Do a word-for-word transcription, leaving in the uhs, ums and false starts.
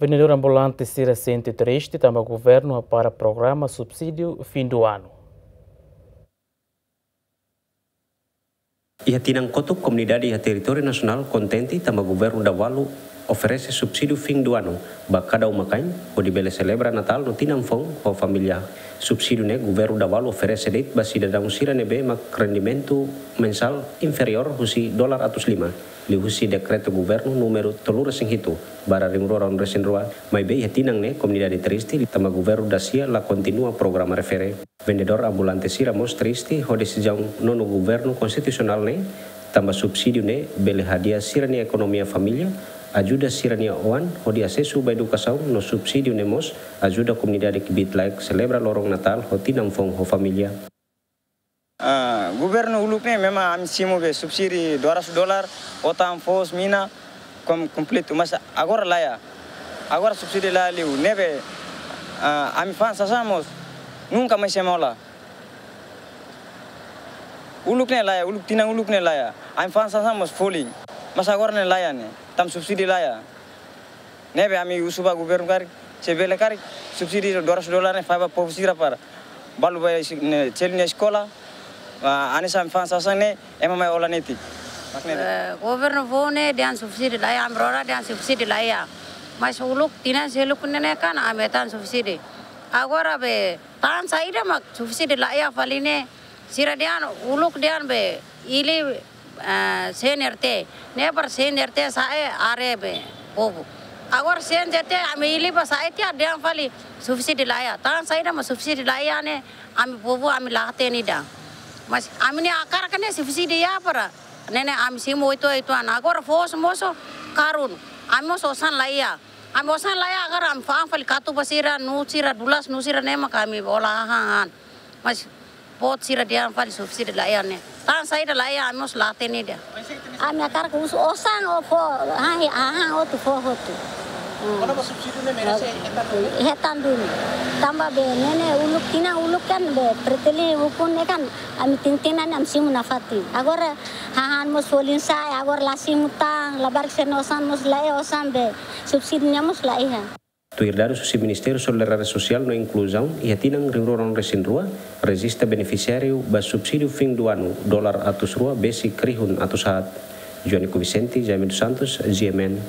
Vendedór ambulante sira sente triste tanba governu hapara programa subsídiu fim do ano. Iha tinan kotuk, komunidade iha territóriu nasionál kontente tanba governu Davalu oferese subsídiu fim do ano ba kada uma-kain, hodi bele selebra Natál no tinan foun ho família. Subsídiu ne'e governu Davalu oferese de'it ba sidadaun sira ne'ebé mak rendimentu mensál inferiór husi dolar atus lima, liuhusi dekretu governu númeru tolu resin hitu barra rihun rua ruanulu resin rua, maibé iha tinan ne'e komunidade triste tanba governu da-sia la kontinua programa refere. Vendedór ambulante sira mós triste ho desizaun nonu governu konstitusionál ne'e, tanba subsídiu ne'e bele hadi'a sira-nia ekonomia família, ajuda sira-nia oan hodi asesu ba edukasaun, no subsídiu ne'e mós ajuda komunidade kbiit-laek selebra loron Natál ho tinan foun ho família. Ah, governu uluk ne'e memang ami simu be subsídiu dua ratus dolar, otan, foos, mina, kom-, kompletu, mas agora laiha. Agora subsídiu laiha liu, ne'ebé, ah, ami fa'an sasán mós nunka mai semola. Uluk ne'e laiha, uluk tinan uluk ne'e laiha. Ami fa'an sasán mós folin. Mas agora ne'e laiha ne'e, tanba subsídiu laiha. Ne'ebé ami husu ba governu karik, se bele karik, subsídiu dua ratus dolar ne'e fó ba povu sira para balu ba es-, ne'e, selu nia eskola, ah, hanesan ami fa'an sasán ne'e, ema mai hola netik. Mak ne'e. Eh, governu foun ne'e dehan subsídiu laiha, ami rona dehan subsídiu laiha. Mas uluk tinan seluk ne'e kan ami hetan subsídiu. Agora be, tan saida mak subsídiu laiha fali ne'e, sira dehan uluk dehan be, Ili, eh, C N R T, ne'e para C N R T sa'e haree be povu. Agora C N R T ami Ili ba sa'e tiha dehan fali subsídiu laiha. Tan saida mak subsídiu laiha ne'e ami povu ami la hatene ida. Mas ami-nia hakarak ne'e subsídiu iha para ne'e ne'e ami simu oituan-oituan. Agora foos mós karun. Ami mós osan laiha. Ami osan laiha agora ami fa'an fali katupa sira, nuu sira, dulas nuu sira ne'e mak ami hola hahán. Mas boot sira dehan fali subsídiu laiha ne'e. Tan saida laiha ami mós la hatene ida. Ami hakarak husu osan ou fó, ha, ha, ha, hotu fó hotu. Hmm. Kona-ba subsídiu ne'e merese hetan duni. Hetan duni. Tanba be ne'e ne'e uluk tinan uluk kan be Fretilin ukun ne'e kan ami tinan-tinan ne'e ami simu nafatin. Agora hahán mós folin sa'e, agora la simu tan, labarik sira-nia osan mós laiha, osan be subsídiu ne'e mós laiha. Tuir dadus husi Ministériu Solidariedade Sosiál no Inkluzaun, iha tinan rihun rua ruanulu resin rua, rejista benefisiáriu ba subsídiu fim do ano dolar atus rua besik rihun atus haat. Joanico Vicente, Jaime dos Santos, G M N.